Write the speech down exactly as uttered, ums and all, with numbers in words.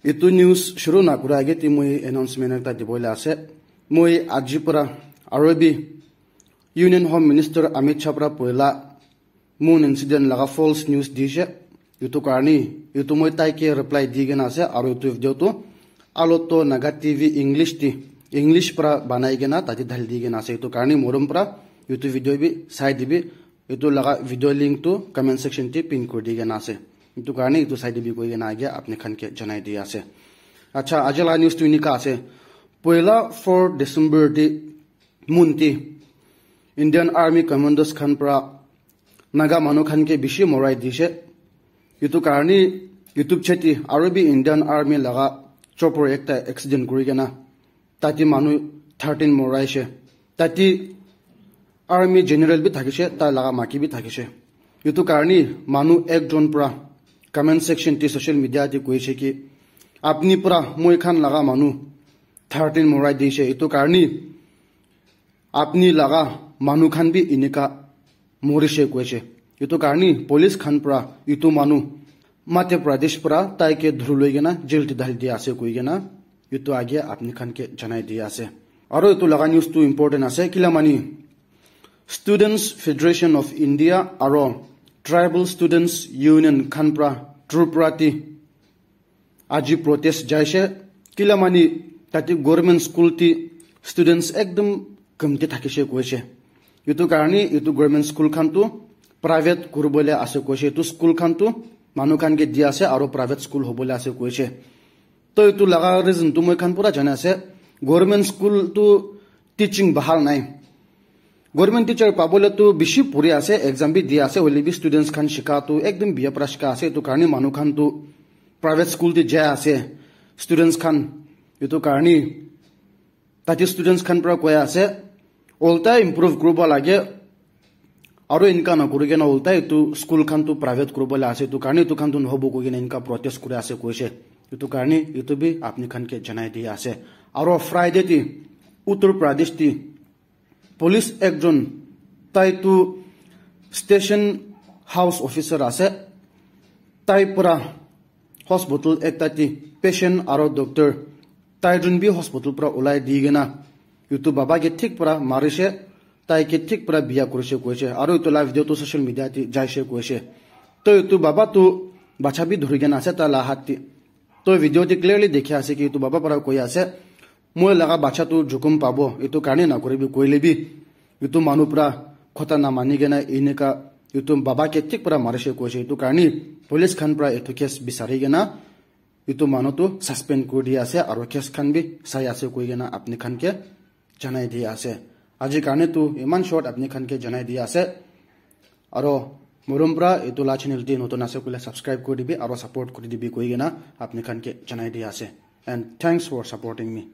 Etu news shuru na kura age te moi announcement ekta dibole ase. Moi aji para aru bi Union Home Minister Amit Shah para poila moon incident laga false news dishe. Etu karni etu moi tai ke reply di kena ase aru etu video tu Aloto Naga T V English ti English para banai kena tate dhali di kena ase. Etu karni morom para etu video bi sai dibi. Etu laga video link tu comment section te pin kuri di kena ase. Etu karni etu sai dibi koi kena age apni khan ke janai di ase. Acha, aji laga news tu enika ase. Poila four December te moon te Indian Army Commandos khan para Naga manu khan ke bishi morai dishe. Etu karni etu cheti aru bi Indian Army laga chopper ekta accident kuri kena tate manu thirteen moraishe. Tate Army General bi thakishe, tai laga maki bi thakishe. Etu karni manu ekjon para comment section te social media te koishe ki apni para moi khan laga manu thirteen morai dishe. Etu karni apni laga manu khan bi enika morishe koishe. Etu karni police khan para etu manu Madhya Pradesh para tai ke dhuri loi kena jail te dhali dia ase koi kena etu age apni khan ke janai dia ase. Aru etu laga news tu important ase kila mani Students Federation of India aru Tribal Students Union khan para Tripura te aji protest jaishe kila mani tate government school te students ekdom kamti thakishe koishe. Etu karni etu government school khan tu private kuribole ase koishe. Etu school khan tu manu khan ke di ase aru private school hobole ase koishe. To etu laga reason tu moi khan pura jana ase. Government school tu teaching bahal nai. Government teacher pabole tu bishi puri ase, exam bi di ase, hoile bi students khan shika tu ekdom biya para shika ase. Etu karni manu khan tu private school te jai ase. Students khan etu karni tate students khan para koi ase, olta improve kuribo lage. Aru enka na kuri kena olta etu school khan tu private kuribo la ase, etu karni etu khan tu nohobo koi kena enka protest kuri ase koishe. Etu karni etu bi apni khan ke janai di ase. Aru Friday te Uttar Pradesh te police ekjon tai tu station house officer ase, tai para hospital ekta te patient aru doctor tai jun bi hospital para ulai di kena etu baba ke thik para marishe, tai ke thik para biya kurishe koishe. Aru etu la video tu social media te jaishe koishe. To etu baba tu bacha bi dhuri kena ase tai la hat te. To video te clearly dekhi ase ki etu baba para koi ase, moi laga bacha tu jukum pabo, etu karni na kuribi koile bi etu manu para khota na mani kena enika etu baba ke thik para marishe koishe. Etu karni police khan para etu case bisari kena etu manu tu suspend kuri di ase aru case khan bi sai ase koi kena apni khan ke janai di ase. Aji karni tu iman short apni khan ke janai di ase. Aru morom para etu la channel te notun ase koile subscribe kuri dibi aru support kuri dibi koi kena apni khan ke janai di ase. And thanks for supporting me.